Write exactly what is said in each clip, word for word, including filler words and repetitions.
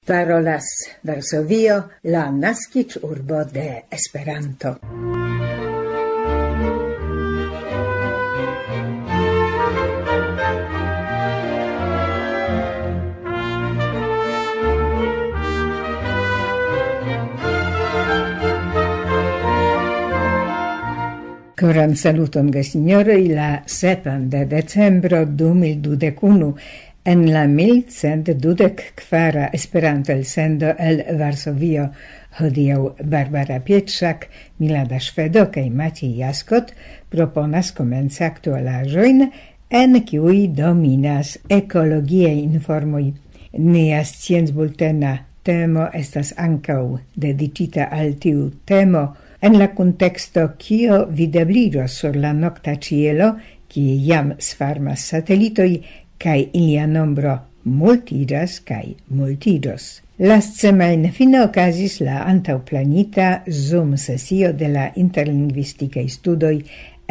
Parolas Varsovio, la naskiĝurbo de Esperanto. Koran saluton, gesinjoroj, la sepan de decembro du mil dudek unu. En la mil cent dudek kvara Esperanto-elsendo el Varsovio, hodiaŭ Barbara Pietrzak, Milada Szwedo kaj Maciej Jaskot proponas komenci aktualaĵojn, en kiuj dominas ekologiaj informoj. Nia sciencbultena temo estas ankaŭ dediĉita al tiu temo en la kunteksto, kio videbliĝos sur la nokta ĉielo, kie jam svarmas satelitoj, kaj ilia nombro multiĝas kaj multiĝos. Lastsemajne fine okazis la antaŭplanita Zoom-sesio de la interlingvistikaj studoj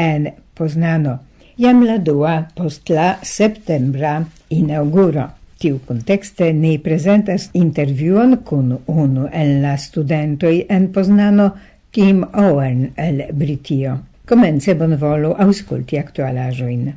en Poznano. Jam la dua post la septembra inaŭguro. Tiu kuntekste ni prezentas intervjuon kun unu el la studentoj en Poznano, Tim Owen el Britio. Komence bonvolu aŭskulti aktualaĵojn.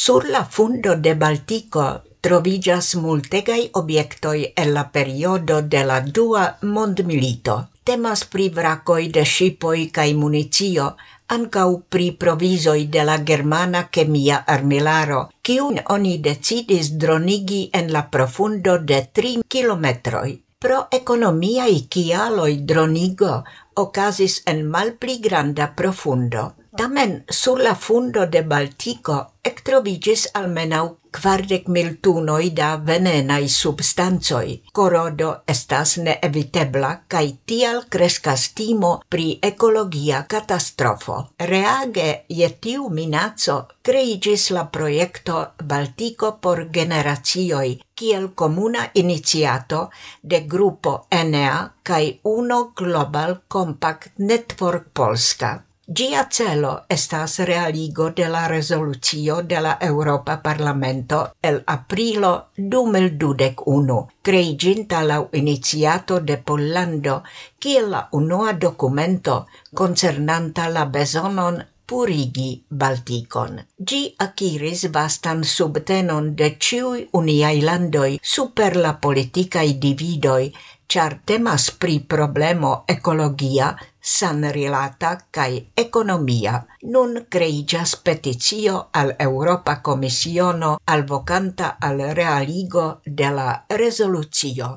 Sur la fundo de Baltiko troviĝas multegaj objektoj el la periodo de la Dua Mondmilito. Temas pri vrakoj de ŝipoj kaj municio, ankaŭ pri provizoj de la germana kemia armilaro, kiun oni decidis dronigi en la profundo de tri kilometroj. Pro ekonomiaj kialoj dronigo okazis en malpli granda profundo. Tamen sur la fundo de Baltiko ektroviĝis almenaŭ kvardek mil tunoj da venenaj substancoj. Korodo estas neevitebla, kaj tial kreskas timo pri ekologia katastrofo. Reage je tiu minaco kreiĝis la projekto Baltiko por generacioj, kiel komuna iniciato de grupo Enea kaj Uno Global Compact Network Polska. Ĝia celo estas realigo de la rezolucio de la Eŭropa Parlamento el aprilo du mil dudek unu, kreiĝinta laŭ iniciato de Pollando kiel la unua dokumento koncernanta la bezonon purigi Baltikon. Ĝi akiris vastan subtenon de ĉiuj uniaj landoj super la politikaj dividoj, ĉar temas pri problemo ekologia, sanrilata kaj ekonomia. Nun kreiĝas peticio al Eŭropa Komisiono alvokanta al realigo de la rezolucio.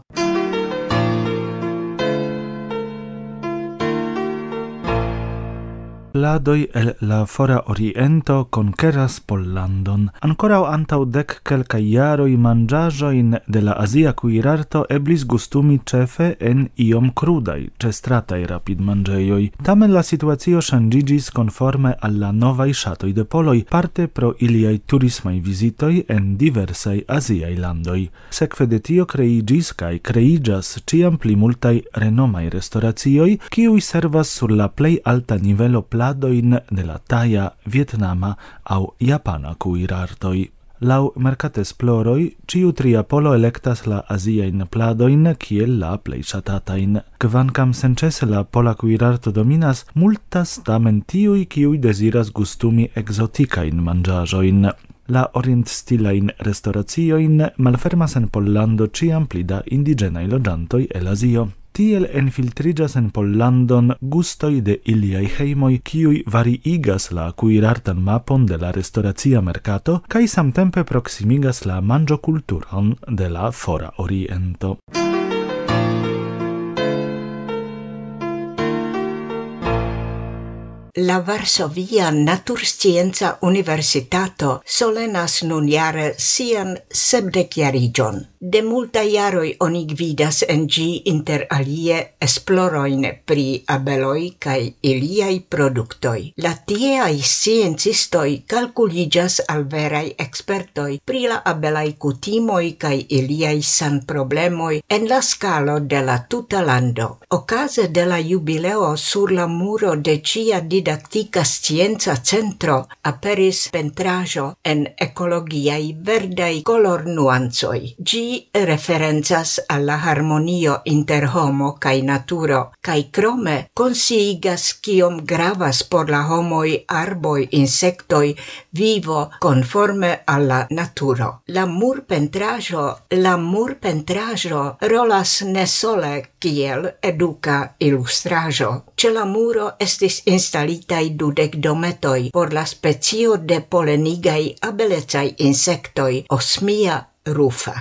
Pladoj el la Fora Oriento konkeras Pollandon. Ankoraŭ antaŭ dek kelkaj jaroj manĝaĵojn de la azia kuirarto eblis gustumi ĉefe en iom krudaj, ĉestrataj rapidmanĝejoj. Tamen la situacio ŝanĝiĝis konforme al la novaj ŝatoj de poloj, parte pro iliaj turismaj vizitoj en diversaj aziaj landoj. Sekve de tio kreiĝis kaj kreiĝas ĉiam pli multaj renomaj restoracioj, kiuj servas sur la plej alta nivelo pladojn de la taja, vietnama aŭ japana kuirartoj. Laŭ merkatesploroj, ĉiu tria polo elektas la aziajn pladojn kiel la plej ŝatatajn. Kvankam senĉese la pola kuirarto dominas, multas tamen tiuj, kiuj deziras gustumi ekzotikajn manĝaĵojn. La orientstilajn restoraciojn malfermas en Pollando ĉiam pli da indiĝenaj loĝantoj el Azio. Tiel enfiltriĝas en Pollandon gustoj de iliaj hejmoj, kiuj variigas la kuirartan mapon de la restoracia merkato kaj samtempe proksimigas la manĝokulturon de la Fora Oriento. La Varsovia Naturscienca Universitato solenas nunjare sian sepdekjariĝon. De multaj jaroj oni gvidas en ĝi inter alie esplorojn pri abeloj kaj iliaj produktoj. La tieaj sciencistoj kalkuliĝas al veraj ekspertoj pri la abelaj kutimoj kaj iliaj sanproblemoj en la skalo de la tuta lando. Okaze de la jubileo sur la muro de ĝia didaktika scienca centro aperis pentraĵo en ekologiaj verdaj kolornuancoj. Ĝi referencas al la harmonio inter homo kaj naturo, kaj krome konsciigas, kiom gravas por la homoj arboj, insektoj, vivo konforme al la naturo. La murpentraĵo, la murpentraĵo rolas ne sole kiel eduka ilustraĵo. Ĉe la muro estis instalitaj dudek dometoj por la specio de polenigaj abelecaj insektoj, Osmia rufa.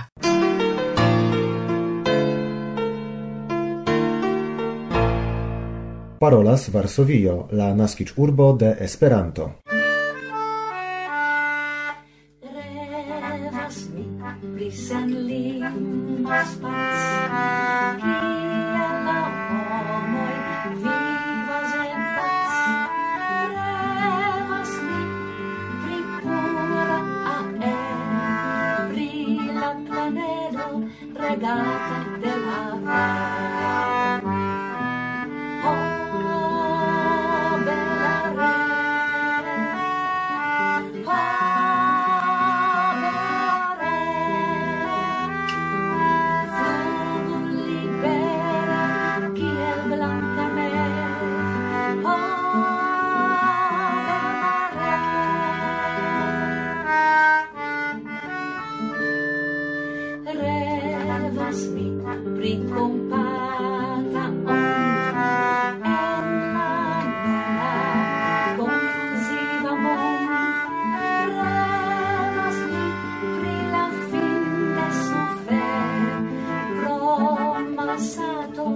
Parolas Varsovio, la naskiĝurbo de Esperanto. Revas mi pri senlingva spac, kie la homoj vivas en pac. Revas mi pri pura aero, pri la planedo regata de la vero. Oh, bela re, oh, bela re, flugu libera kiel blanka mevo. Oh, bela re. Revas mi pri kompata ondo en la nula konfuziva mondo. Revas mi pri la fin de sufero pro malsato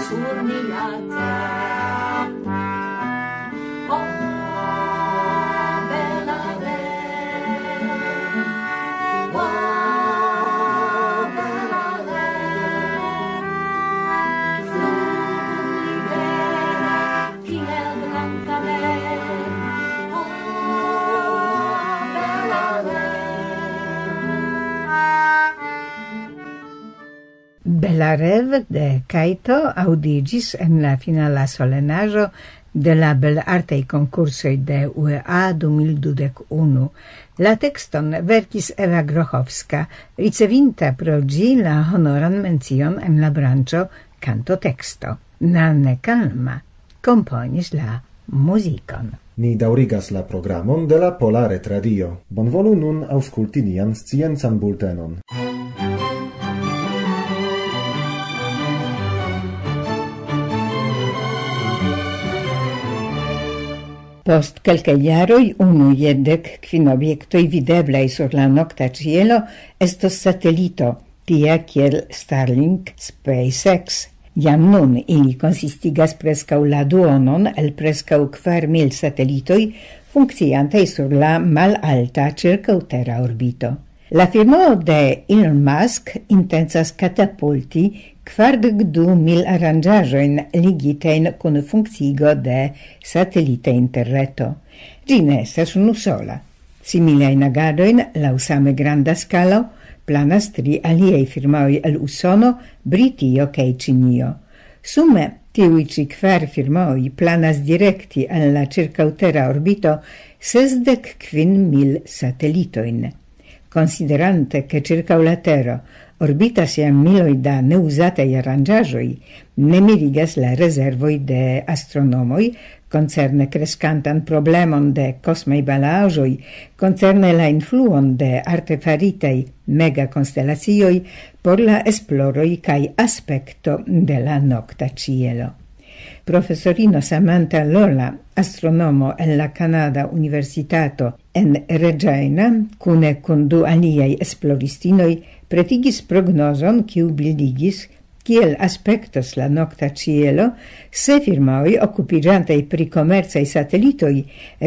sur mia tero. Oh, bela re, oh, bela re, flugu libera kiel blanka mevo. Oh, bela re. Belarev de Kajto aŭdiĝis en la finala solenaĵo de la belartaj konkursoj de U E A du mil dudek unu. La tekston verkis Eva Grochowska, ricevinta pro ĝi la honoran mencion en la branĉo kantoteksto. Nanne Kalma komponis la muzikon. Ni daŭrigas la programon de la Pola Retradio. Bonvolu nun aŭskulti nian sciencan bultenon. Post kelkaj jaroj unu je dek kvin objektoj videblaj sur la nokta ĉielo estos satelito, tia kiel Starlink, SpaceX. Jam nun ili konsistigas preskaŭ la duonon el preskaŭ kvar mil satelitoj funkciantaj sur la malalta ĉirkaŭtera orbito. La firmao de Elon Musk intencas katapulti kvardek du mil aranĝaĵojn ligitajn kun funkciigo de satelita interreto. Ĝi ne estas unusola. Similajn agadojn laŭ same granda skalo planas tri aliaj firmaoj el Usono, Britio kaj Ĉinio. Sume tiuj ĉi kvar firmaoj planas direkti al la ĉirkaŭtera orbito sesdek kvin mil satelitojn. Konsiderante, ke ĉirkaŭ la Tero orbitas jam miloj da neuzataj aranĝaĵoj, ne mirigas la rezervoj de astronomoj koncerne kreskantan problemon de kosmaj balaĵoj, koncerne la influon de artefaritaj megakonstelasioj por la esploroj kaj aspekto de la nokta ĉielo. Profesorino Samantha Lola, astronomo en la Kanada Universitato en Regina, kune kun du aliaj esploristinoj, pretigis prognozon, kiu bildigis, kiel aspektos la nokta ĉielo, se firmaoj okupiĝantaj pri komercaj satelitoj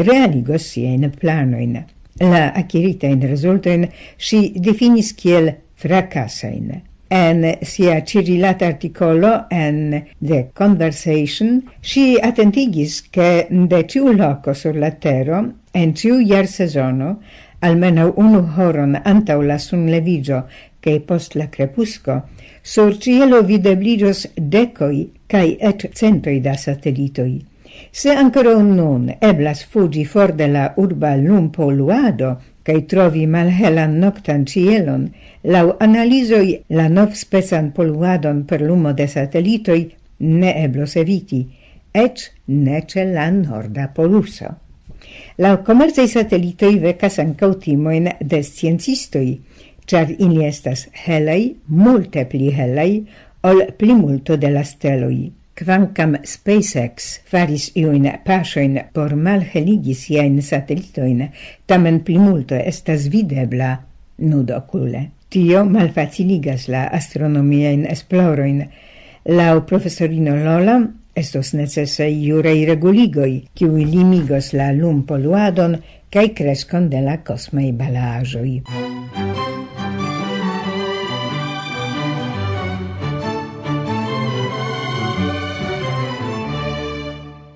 realigos siajn planojn. La akiritajn rezultojn ŝi difinis kiel frakasajn. En sia ĉirilata artikolo en The Conversation ŝi atentigis, ke de ĉiu loko sur la Tero, en ĉiu jarsezono, almenaŭ unu horon antaŭ la sunleviĝo kaj post la krepusko, sur ĉielo videbliĝos dekoj kaj eĉ centoj da satelitoj. Se ankoraŭ nun eblas fuĝi for de la urba lumpoluado kaj trovi malhelan noktan ĉielon, laŭ analizoj la novspecan poluadon per lumo de satelitoj ne eblos eviti, eĉ ne ĉe la norda poluso. La komercaj satelitoj vekas ankaŭ timojn de sciencistoj, ĉar ili estas helaj, multe pli helaj ol plimulto de la steloj. Kvankam SpaceX faris iujn paŝojn por malheligi siajn satelitojn, tamen plimulto estas videbla nudokule. Tio malfaciligas la astronomiajn esplorojn. Laŭ profesorino Lola estos necesaj juraj reguligoj, kiuj limigos la lumpoluadon kaj kreskon de la kosmaj balaĵoj.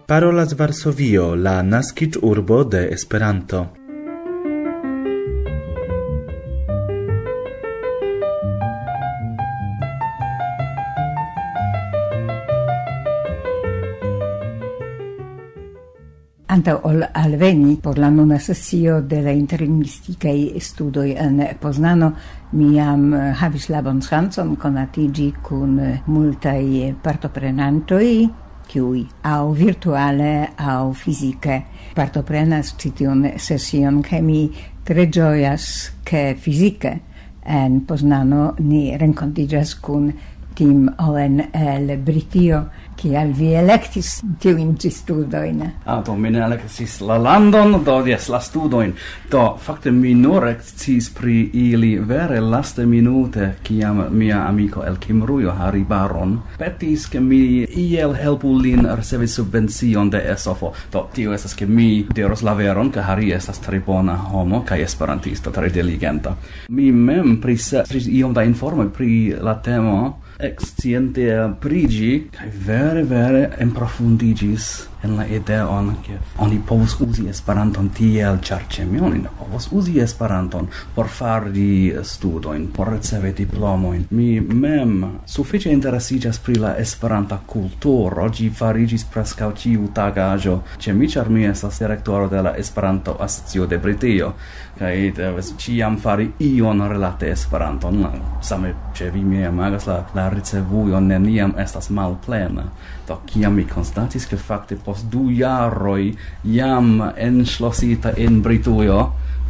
Parolas Varsovio, la naskiĝurbo de Esperanto. Antaŭ ol alveni por la nuna sesio de la interlingvistikaj studoj en Poznano, mi jam havis la bonŝancon konatiĝi kun multaj partoprenantoj, kiuj aŭ virtuale, aŭ fizike partoprenas ĉi tiun sesion, kaj mi tre ĝojas, ke fizike en Poznano ni renkontiĝas kun Tim Owen el Britio. Kial vi elektis tiujn ĉi studojn? Ah, do mi ne elektis la landon, do jes, la studojn. Do, fakte mi nur eksciis pri ili vere laste minute, kiam mia amiko el Kimrujo, Harry Baron, petis, ke mi iel helpu lin ricevi subvencion de esofo. Do, tio estas, ke mi diros la veron, ke Harry estas tre bona homo kaj esperantisto, tre diligenta. Mi mem priskribis iom da informoj pri la temo, eksciente pri ĝi, kaj vere, vere enprofundiĝis en la ideon, ke oni povus uzi Esperanton tiel, ĉar ĉe mi oni ne povus uzi Esperanton por fari studojn, por ricevi diplomojn. Mi mem sufiĉe interesiĝas pri la Esperanta kulturo, ĝi fariĝis preskaŭ ĉiu tagaĵo ĉe mi, ĉar mi estas direktoro de la Esperanto Asocio de Britio, kaj devas ĉiam fari ion relate Esperanton. Same ĉe vi, mi imagas, la, la ricevujo neniam estas malplena. Do, kiam mi konstatis, ke fakte post du jaroj jam enŝlosita en Britujo,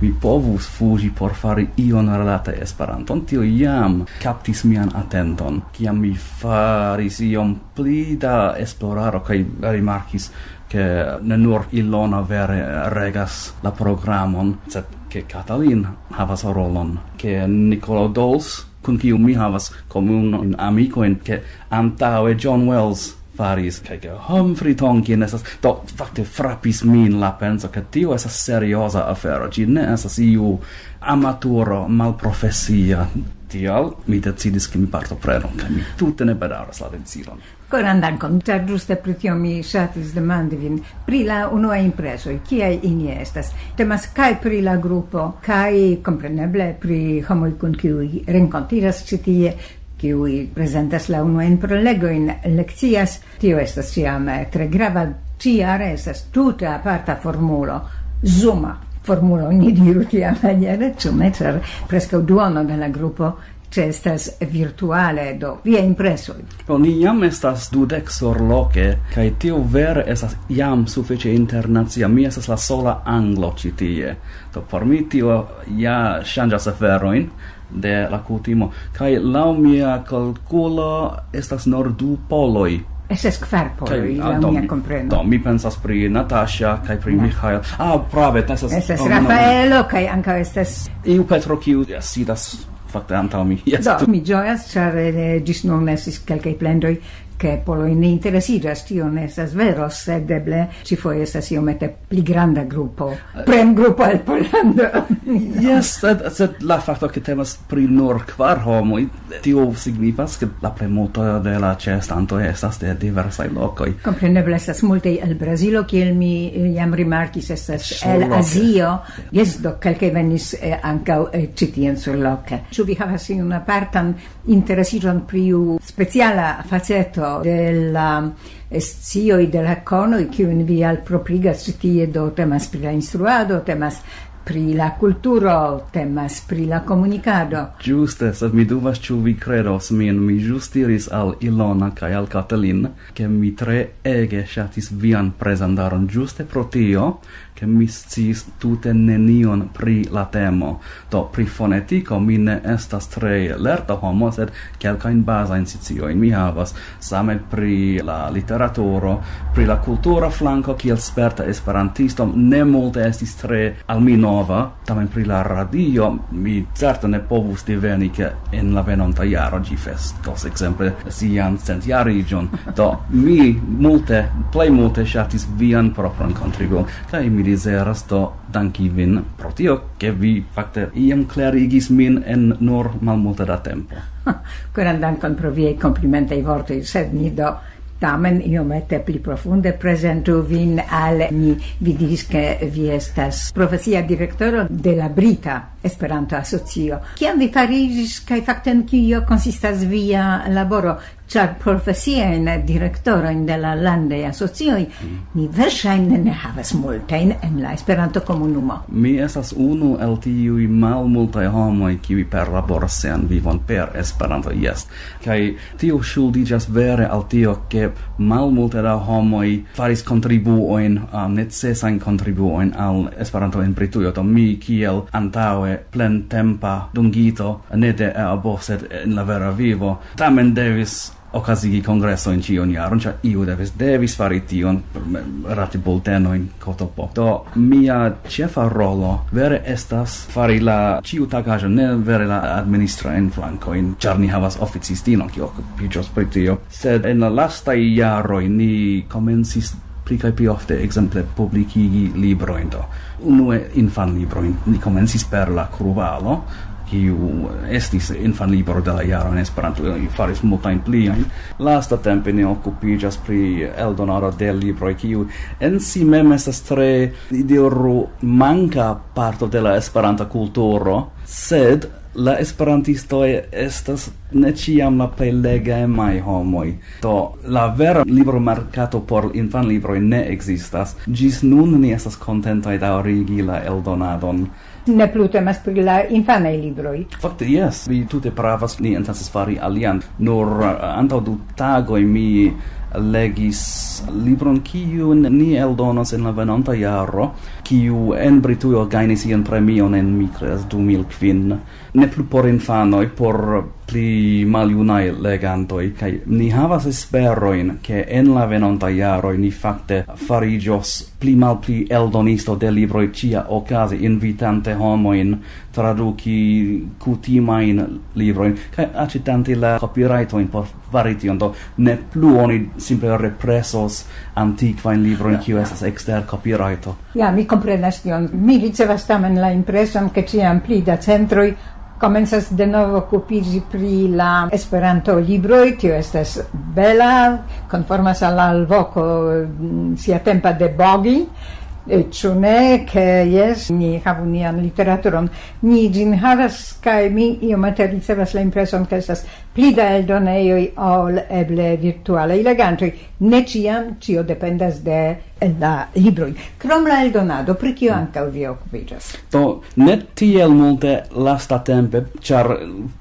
mi povus fuĝi por fari ion relate Esperanton, tio jam kaptis mian atenton. Kiam mi faris iom pli da esplorado kaj rimarkis, ke ne nur Ilona vere regas la programon, sed ke Katalin havas rolon, ke Nicolo Dols, kun kiu mi havas komunajn amikojn, ke antaŭe John Wells faris, kaj ke Humphrey Tonkin estas. Do, fakte frapis min la penso, ke tio estas serioza afero. Ĝi ne estas iu amaturo malprofesia. Tial mi decidis, ke mi partoprenu, kaj mi tute ne bedaŭras la decidon. Koran dankon, ĉar ĝuste pri tio mi ŝatis demandi vin pri la unua impresoj, kiaj ili estas. Temas kaj pri la grupo, kaj kompreneble pri homoj, kun kiuj renkontiĝas ĉi tie, kiuj prezentas la unuajn prolegojn, lekcias. Tio estas ĉiam, eh, tre grava. Ĉiare estas tute aparta formulo, Zuma formulo, ni diru tiamaniere, ĉu ne? Ĉar preskaŭ duono de la grupo ĉeestas virtuale, do via impresoj. Do, ni jam estas dudek surloke, kaj tio vere estas jam sufiĉe internacia. Mi estas la sola anglo ĉi tie. Do, por mi tio ja ŝanĝas aferojn de la kutimo. Kaj laŭ mia kalkulo estas nur du poloj. Estas kvar poloj, Kaj, ah, laŭ do, mia mi, kompreno. Do, mi pensas pri Natasha kaj pri Na. Michael. Ah, prave, estas Estas oh, no, no. Rafaelo, kaj ankaŭ estas Iu Petro, kiu, ja, sidas fakte antaŭ mi. Jes. Do, mi ĝojas, ĉar, eh, ĝis nun estis kelkaj plendoj, ke poloj ne interesiĝas. Tio ne estas vero, sed eble ĉifoje estas iomete pli granda grupo. Premgrupo el Pollando. Jes, sed, sed la fakto, ke temas pri nur kvar homoj, tio signifas, ke la plejmulto de la ĉeestantoj estas de diversaj lokoj. Kompreneble estas multaj el Brazilo, kiel mi, eh, jam rimarkis, estas el Surloke. Azio. Jes, do kelkaj venis, eh, ankaŭ, eh, ĉi tien surloke. Ĉu vi havas iun apartan interesiĝon pri iu speciala faceto de la scioj, de la konoj, kiujn vi alproprigas ĉi tie, do temas pri la instruado, temas pri la kulturo, temas pri la komunikado. Ĝuste, sed mi dubas, ĉu vi kredos min. Mi ĵus diris al Ilona kaj al Katalin, ke mi tre ege ŝatis vian prezentaron ĝuste pro tio, ke mi sciis tute nenion pri la temo. Do, pri fonetiko mi ne estas tre lerta homo, sed kelkajn bazajn sciojn mi havas. Same pri la literaturo, pri la kultura flanko, kiel sperta esperantisto, ne multe estis tre al mi nova. Tamen pri la radio mi certe ne povus diveni, ke en la venonta jaro ĝi festos ekzemple sian centjariĝon. Do, mi multe, plej multe ŝatis vian propran kontribuon, kaj mi deziras do danki vin pro tio, ke vi fakte iam klarigis min en nur malmulte da tempo. Koran dankon pro viaj komplimentaj vortoj, sed ni do tamen iomete pli profunde prezentu vin al ni. Vi diris, ke vi estas profesia direktoro de la Brita Esperanto-Asocio. Kiam vi fariĝis, kaj fakte en kio konsistas via laboro? Ĉar profesiajn direktorojn de la landaj asocioj ni verŝajne ne havas multajn en la Esperanto-komunumo. Mi estas unu el tiuj malmultaj homoj, kiuj perlaboras sian vivon per Esperanto, jes. Kaj tio ŝuldiĝas vere al tio, ke malmulte da homoj faris kontribuojn, ah, necesajn kontribuojn al Esperanto en Britujo. Do mi kiel antaŭe plentempa dungito, ne de eabo, sed en la vera vivo, tamen devis okazigi kongresojn ĉiun jaron, ĉar iu devis, devis fari tion, rati bultenojn, kotopo. Do, mia ĉefa rolo vere estas fari la ĉiutagaĵon, ne vere la administrajn flankojn, ĉar ni havas oficistinon, kiu okupiĝos pri tio. Sed en la lastaj jaroj ni komencis pli kaj pli ofte, ekzemple, publikigi librojn. Do, unue infanlibrojn. Ni komencis per La Kruvalo, kiu estis infanlibro de la jaro en Esperanto, ni faris multajn pliajn. Lastatempe ni okupiĝas pri eldonado de libroj, kiu en si mem estas tre, diru, manka parto de la esperanta kulturo, sed la esperantistoj estas ne ĉiam la plej legemaj homoj. Do, la vera libromerkato por infanlibroj ne ekzistas. Ĝis nun ni estas kontentaj daŭrigi la eldonadon. Ne plu temas pri la infanaj libroj. Fakte, jes, vi tute pravas, ni intencas fari alian. Nur, eh, antaŭ du tagoj mi legis libron, kiun ni eldonos en la venonta jaro, kiu en Britujo gajnis ian premion en, mi kredas, du mil kvin. Ne plu por infanoj, por pli maljunaj legantoj, kaj ni havas esperojn, ke en la venonta jaroj ni fakte fariĝos pli malpli eldonisto de libroj ĉia okaze, invitante homojn traduki kutimajn librojn, kaj aĉetante la copyrightojn por fari tion. Do, ne plu oni simple represos antikvajn librojn, kiu estas ekster copyrighto. Ja, mi komprenas tion. Mi ricevas tamen la impreson, ke ĉiam pli da centroj komencas denove okupiĝi pri la Esperanto-libroj. Tio estas bela, konformas al la alvoko, mm, siatempa de Bogi. E, ĉu ne, ke jes, ni havu nian literaturon. Ni ĝin havas, kaj mi iomete ricevas la impreson, ke estas pli da eldonejoj ol eble virtualaj legantoj. Ne ĉiam, ĉio dependas de la libroj. Krom la eldonado, pri kio ankaŭ vi okupiĝas? Do, ne tiel multe lastatempe, ĉar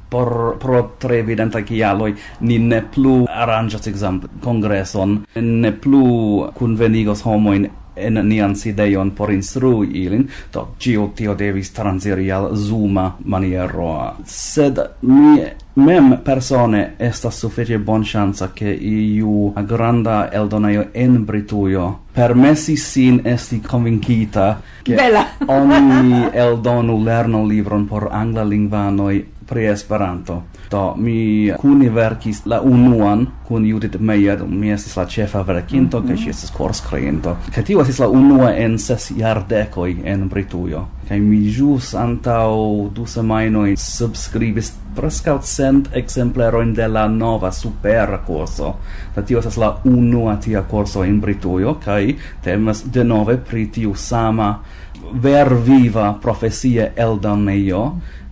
por, pro tre evidentaj kialoj ni ne plu aranĝas, ekzemple, kongreson, ne plu kunvenigos homojn en nian sidejon por instrui ilin. Do, ĉio tio devis transiri al Zuma maniero. Sed mi mem persone estas sufiĉe bonŝanca, ke iu granda eldonejo en Britujo permesis sin esti konvinkita, ke Bela. Oni eldonu lernolibron por anglalingvanoj pri Esperanto. Do, mi kune verkis la unuan kun Judith Meyer, mi estis la ĉefa verkinto, kaj ŝi estis korskriinto. Kaj tio estis la unua en ses jardekoj en Britujo. Kaj mi ĵus antaŭ du semajnoj subskribis preskaŭ cent ekzemplerojn de la nova supera kurso. Kaj tio estas la unua tia kurso en Britujo, kaj temas denove pri tiu sama verviva profesia eldonejo,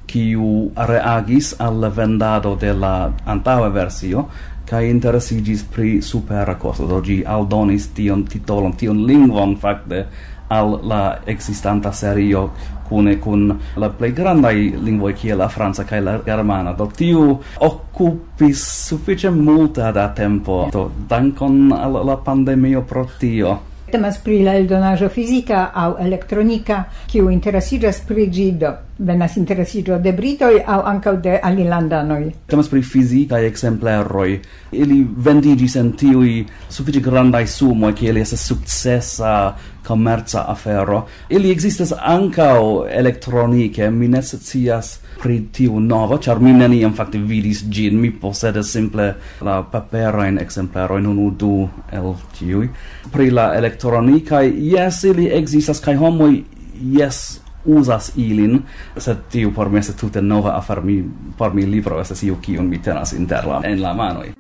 kiu reagis al la vendado de la antaŭa versio, Kaj interesiĝis pri supera kosto, do ĝi aldonis tion titolon, tion lingvon fakte al la ekzistanta serio kune kun la plej grandaj lingvoj kiel la franca kaj la germana. Do tiu okupis sufiĉe multe da tempo. Do dankon al la pandemio pro tio. Temas pri la eldonaĵo fizika aŭ elektronika, kiu interesiĝas pri ĝi, do venas interesiĝo de britoj aŭ ankaŭ de alilandanoj. Temas pri fizikaj ekzempleroj. Ili vendiĝis en tiuj sufiĉe grandaj sumoj, kiel estas sukcesa komerca afero. Ili ekzistas ankaŭ elektronike, mi ne scias pri tiu novo, ĉar mi neniam fakte vidis ĝin, mi posedas simple la paperajn ekzemplerojn, unu, du el tiuj. Pri la elektronikaj, jes, ili ekzistas, kaj homoj, jes, uzas ilin, sed tiu por mi estas tute nova afero, mi, por mi libro estas io kiun mi tenas inter la, en la manoj.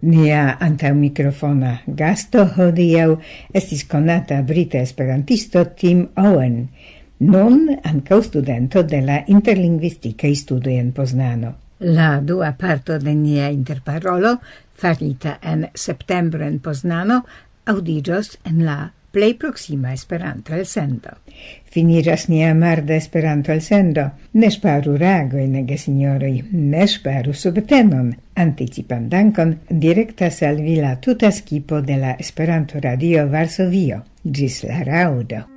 Nia antaŭmikrofona gasto hodiaŭ estis konata brita esperantisto Tim Owen, nun ankaŭ studento de la interlingvistikaj studoj en Poznano. La dua parto de nia interparolo, farita en septembro en Poznano, aŭdiĝos en la plej proksima Esperanto-elsendo. Finiĝas nia marda Esperanto-elsendo. Ne ŝparu ragojn, gesinjoroj, ne ŝparu subtenon. Anticipan dankon direktas al vi la tuta skipo de la Esperanto-Radio Varsovio. Ĝis la raŭdo.